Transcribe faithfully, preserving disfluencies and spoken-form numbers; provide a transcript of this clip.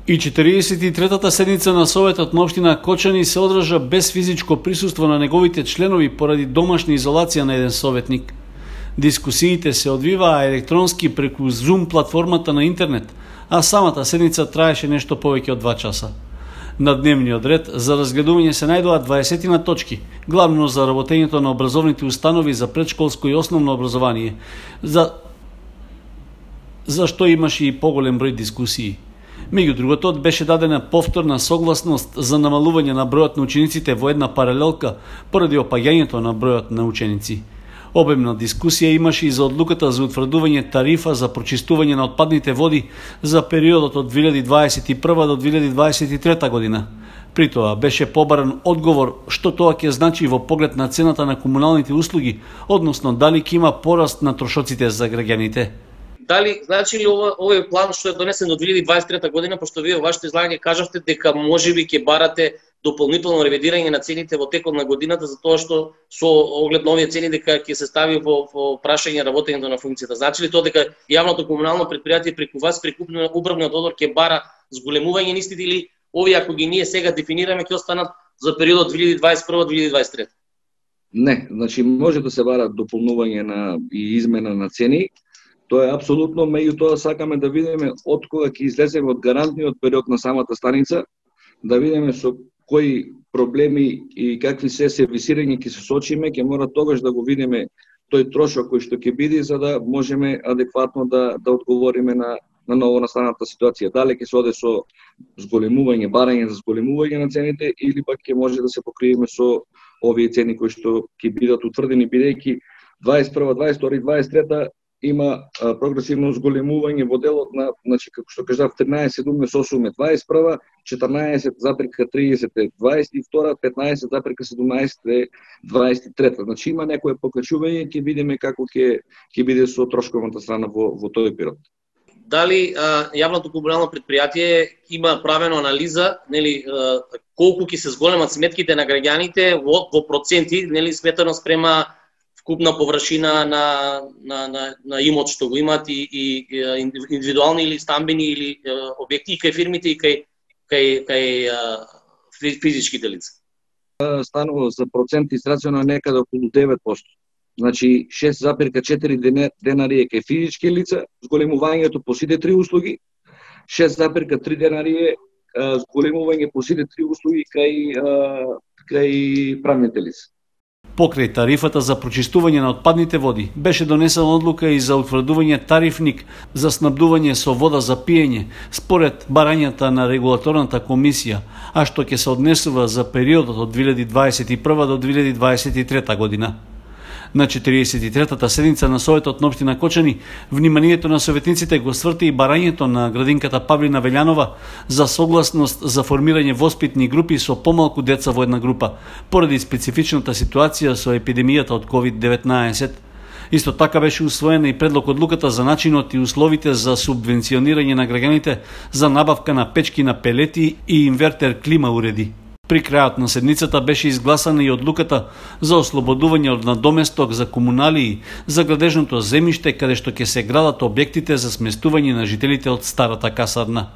И четиридесет и третата седница на Советот на општина Кочани се одржа без физичко присуство на неговите членови поради домашна изолација на еден советник. Дискусиите се одвиваа електронски преку Zoom платформата на интернет, а самата седница траеше нешто повеќе од два часа. На дневниот ред за разгледување се најдоа дваесет точки, главно за работењето на образовните установи за предшколско и основно образование, за зашто имаше и поголем број дискусии. Меѓу другото, беше дадена повторна согласност за намалување на бројот на учениците во една паралелка поради опаѓањето на бројот на ученици. Обемна дискусија имаше и за одлуката за утврдување тарифа за прочистување на отпадните води за периодот од две илјади дваесет и прва до две илјади дваесет и трета година. При тоа беше побаран одговор што тоа ќе значи во поглед на цената на комуналните услуги, односно дали ќе има пораст на трошоците за граѓаните. Дали значи ли ова, овој план што е донесен до две илјади дваесет и трета година, пошто вие во вашето излагање кажавте дека можеби ќе барате дополнително ревидирање на цените во текот на годината, за тоа што со оглед на овие цени дека ќе се стави во, во прашање работењето на функцијата. Значи ли тоа дека јавното комунално предпријатие преку вас, преку управниот одбор ќе бара зголемување на истите, или овие ако ги ние сега дефинираме ќе останат за периодот две илјади дваесет и прва до две илјади дваесет и трета? Не, значи може да се бара дополнување на и измена на цени. Тоа е апсолутно, меѓутоа сакаме да видиме од кога ќе излеземе од гарантниот период на самата станица, да видиме со кои проблеми и какви се сервисирање ќе се соочиме, ќе мора тогаш да го видиме тој трошок кој што ќе биде, за да можеме адекватно да да одговориме на на ново настаната ситуација. Дали ќе се оде со зголемување, барање за зголемување на цените, или пак ќе може да се покриеме со овие цени кои што ќе бидат утврдени, бидејќи дваесет и прва, дваесет и втора и дваесет и трета има а, прогресивно зголемување во делот на, значи како што кажав, тринаесет со осум е дваесет и прва, четрнаесет запирка тридесет е дваесет и втора, петнаесет запирка седумнаесет е дваесет и трета. Значи има некое покачување, ќе видиме како ќе ќе биде со трошковната страна во во тој период. Дали а, јавното комунално предпријатие има правено анализа, нели, а, колку ќе се зголемат сметките на граѓаните во, во проценти, нели, сметано спрема вкупна површина на, на, на, на имот што го имат, и, и, и индивидуални или стамбени или е, објекти, и кај фирмите и кај, кај, кај е, физичките лица? Станува за процент израцено некаде околу девет проценти. Значи шест запирка четири денари е кај физички лица, зголемувањето по сите три услуги, шест запирка три денари е зголемување по сите три услуги кај, кај правните лица. Покрај тарифата за прочистување на отпадните води, беше донесена одлука и за утврдување тарифник за снабдување со вода за пиење, според барањата на регулаторната комисија, а што ќе се однесува за периодот од две илјади дваесет и прва до две илјади дваесет и трета година. На четиридесет и третата седница на Советот на општина Кочани, вниманието на советниците го сврти и барањето на градинката Павлина Велјанова за согласност за формирање воспитни групи со помалку деца во една група, поради специфичната ситуација со епидемијата од ковид деветнаесет. Исто така беше усвоена и предлог одлуката за начинот и условите за субвенционирање на граѓаните за набавка на печки на пелети и инвертер клима уреди. При крајот на седницата беше изгласана и одлуката за ослободување од надоместок за комуналии за градежното земјиште каде што ќе се градат објектите за сместување на жителите од старата касарна.